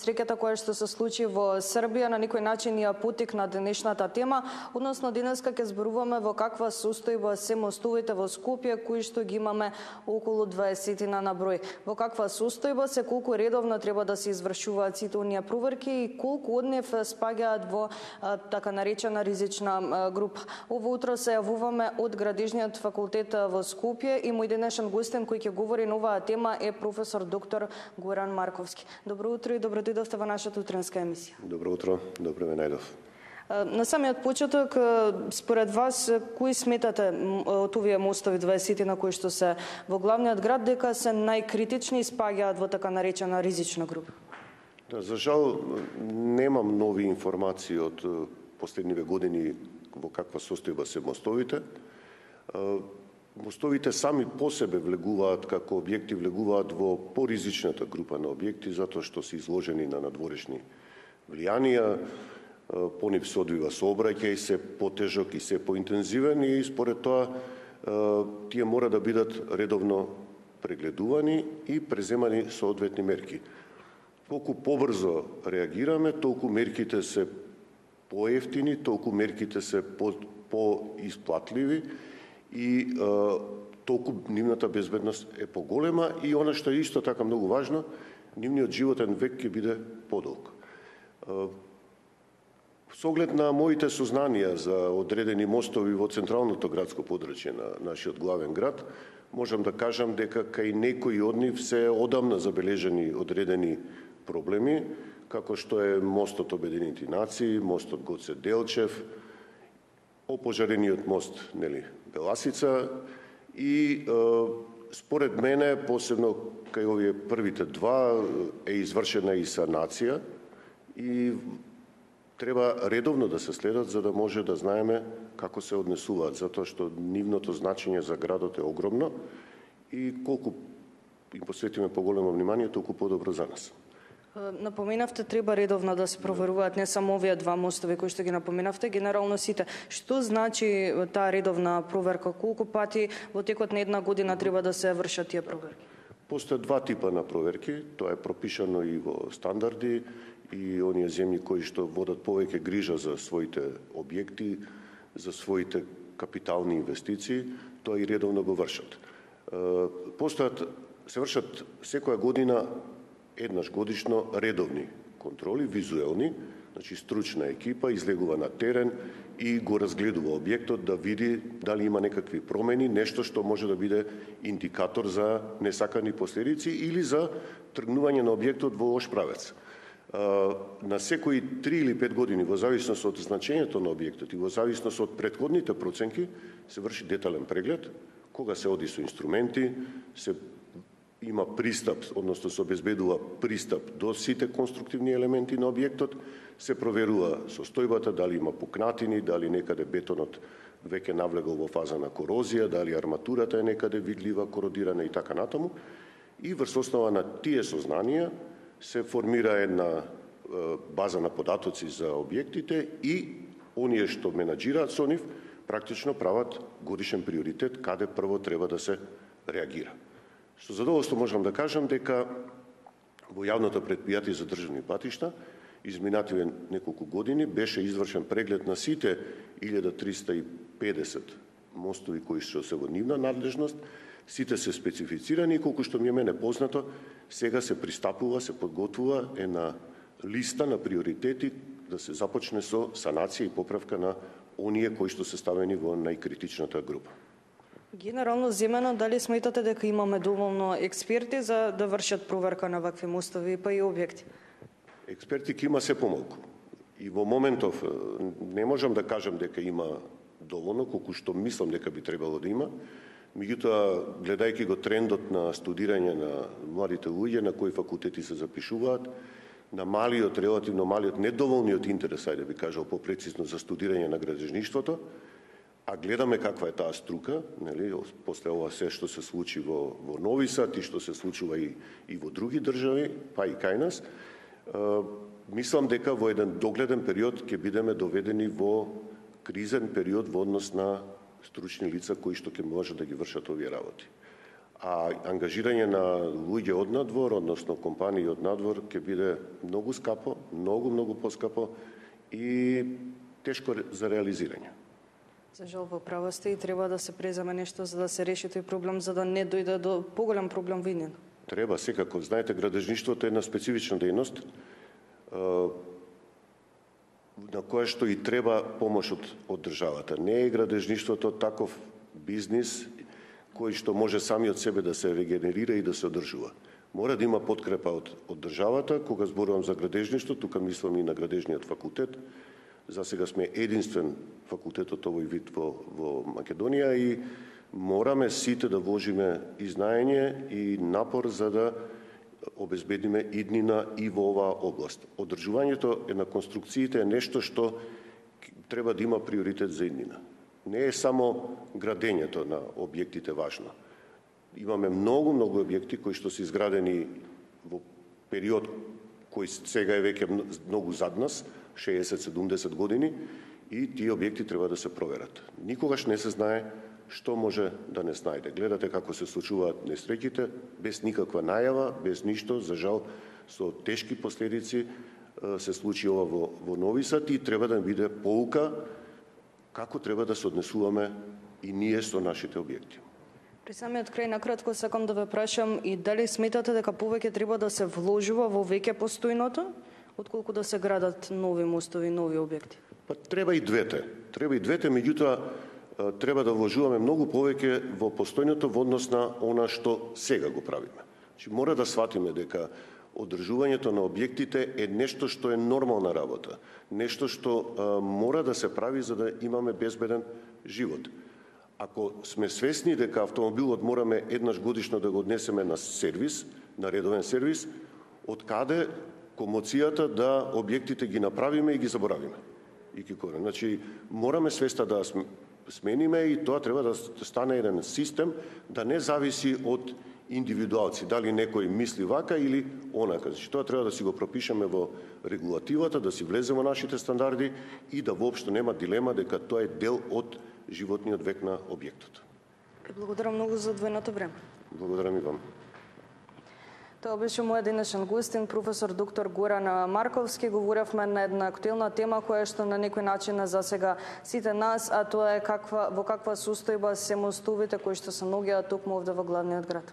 несреќата која што се случи во Србија на некој начин ја поттикна денешната тема, односно денеска ќе зборуваме во каква состојба се мостовите во Скопје, кои што ги имаме околу 20 на број. Во каква состојба се, колку редовно треба да се извршуваат сите оние проверки и колку од нив спаѓаат во така наречена ризична група. Ово утро се јавуваме од Градежниот факултет во Скопје и мој денешен гостин кој ќе говори на оваа тема е професор доктор Горан Марковски. Добро утро и добро дојдовте во нашата утренска емисија. Добро утро, добро ме најдов. На самиот почеток, според вас, кои сметате од овие мостови 20 на кои што се во главниот град дека се најкритични и спаѓаат во така наречена ризична група? Да, за жал немам нови информации од последниве години во каква состојба се мостовите. Мостовите сами по себе влегуваат како објекти, влегуваат во поризичната група на објекти, затоа што се изложени на надворешни влијанија, по нив се одвива сообраќај, се потежок и се поинтензивен и според тоа тие мора да бидат редовно прегледувани и преземани соодветни мерки. Колку побрзо реагираме, толку мерките се поевтини, толку мерките се поисплатливи и толку нивната безбедност е поголема и она што е исто така многу важно, нивниот животен век ќе биде подолг. Со оглед на моите сознанија за одредени мостови во централното градско подрачје на нашиот главен град, можам да кажам дека кај некои од нив се одамна забележени одредени проблеми, како што е мостот Обединети нации, мостот Гоце Делчев, опожарениот мост, Беласица и според мене, посебно кај овие првите два, е извршена и санација и треба редовно да се следат за да може да знаеме како се однесуваат, затоа што нивното значење за градот е огромно и колку им посветиме поголемо внимание, толку подобро за нас. Напоменавте, треба редовно да се проверуваат не само овие два мостови кои што ги напоменавте, генерално сите. Што значи таа редовна проверка? Колку пати во текот на една година треба да се вршат тие проверки? Постојат два типа на проверки, тоа е пропишано и во стандарди и оние земји кои што водат повеќе грижа за своите објекти, за своите капитални инвестиции, тоа и редовно го вршат. Се вршат секоја година еднаш годишно редовни контроли, визуелни, значи стручна екипа излегува на терен и го разгледува објектот да види дали има некакви промени, нешто што може да биде индикатор за несакани последици или за тргнување на објектот во лош правец. На секои 3 или 5 години, во зависност од значењето на објектот и во зависност од претходните проценки, се врши детален преглед, кога се оди со инструменти, се има пристап, односно се обезбедува пристап до сите конструктивни елементи на објектот, се проверува состојбата, дали има пукнатини, дали некаде бетонот веќе навлегол во фаза на корозија, дали арматурата е некаде видлива, кородирана и така натаму. И врз основа на тие сознанија се формира една база на податоци за објектите и оние што менаџираат со нив практично прават годишен приоритет каде прво треба да се реагира. Со задоволство можам да кажам дека во јавното претпријатие за државни патишта изминативе неколку години беше извршен преглед на сите 1350 мостови кои што се во нивна надлежност, сите се специфицирани и колку што ми е мене познато, сега се пристапува, се подготвува една листа на приоритети да се започне со санација и поправка на оние кои што се ставени во најкритичната група. Генерално земено, дали сметате дека имаме доволно експерти за да вршат проверка на вакви мостови па и објекти? Експерти ќе има се помалку. И во моментов не можам да кажам дека има доволно, колку што мислам дека би требало да има. Меѓутоа, гледајќи го трендот на студирање на младите луѓе, на кои факултети се запишуваат, на малиот, релативно малиот, недоволниот интерес, ајде би кажал попрецизно, за студирање на градежништвото, а гледаме каква е таа струка, после ова се што се случи во Нови Сад и што се случува и во други држави, па и кај нас, мислам дека во еден догледен период ќе бидеме доведени во кризен период во однос на стручни лица кои што ќе може да ги вршат овие работи. А ангажирање на луѓе од надвор, односно компании од надвор, ќе биде многу скапо, многу поскапо и тешко за реализирање. За жал во право сте и треба да се преземе нешто за да се реши тој проблем, за да не дојде до поголем проблем во иднина. Треба, секако. Знаете, градежништвото е една специфична дејност на која што и треба помош од државата. Не е градежништвото таков бизнис кој што може сами од себе да се регенерира и да се одржува. Мора да има подкрепа од државата. Кога зборувам за градежништво, тука мислам и на градежниот факултет. За сега сме единствен факултет од овој вид во Македонија и мораме сите да вложиме и знаење и напор за да обезбедиме иднина и во оваа област. Одржувањето на конструкциите е нешто што треба да има приоритет за иднина. Не е само градењето на објектите важно. Имаме многу објекти кои што се изградени во период кој сега е веќе многу зад нас, 60-70 години, и тие објекти треба да се проверат. Никогаш не се знае што може да не знајде. Гледате како се случуваат несреќите, без никаква најава, без ништо, за жал со тешки последици се случи ова во Нови Сад и треба да биде поука како треба да се однесуваме и ние со нашите објекти. При самиот крај накратко сакам да ве прашам и дали сметате дека повеќе треба да се вложува во веќе постојното, отколку да се градат нови мостови, нови објекти? Па треба и двете. Треба и двете, меѓутоа треба да вложуваме многу повеќе во постојното во однос на она што сега го правиме. Значи, мора да сватиме дека одржувањето на објектите е нешто што е нормална работа, нешто што мора да се прави за да имаме безбеден живот. Ако сме свесни дека автомобилот мораме еднаш годишно да го однесеме на сервис, на редовен сервис, од каде комоцијата да објектите ги направиме и ги заборавиме? И ги корен. Значи, мораме свеста да смениме и тоа треба да стане еден систем, да не зависи од индивидуалци, дали некој мисли вака или онака. Значи, тоа треба да си го пропишеме во регулативата, да си влезе во нашите стандарди и да воопшто нема дилема дека тоа е дел од животниот век на објектот. Благодарам многу за одвоеното време. Благодарам и вам. Тоа беше мојот денешен гостин, професор доктор Горан Марковски. Говоревме на една актуелна тема која што на некој начин засега сите нас, а тоа е во каква состојба се мостовите кои што се наоѓаат токму овде во главниот град.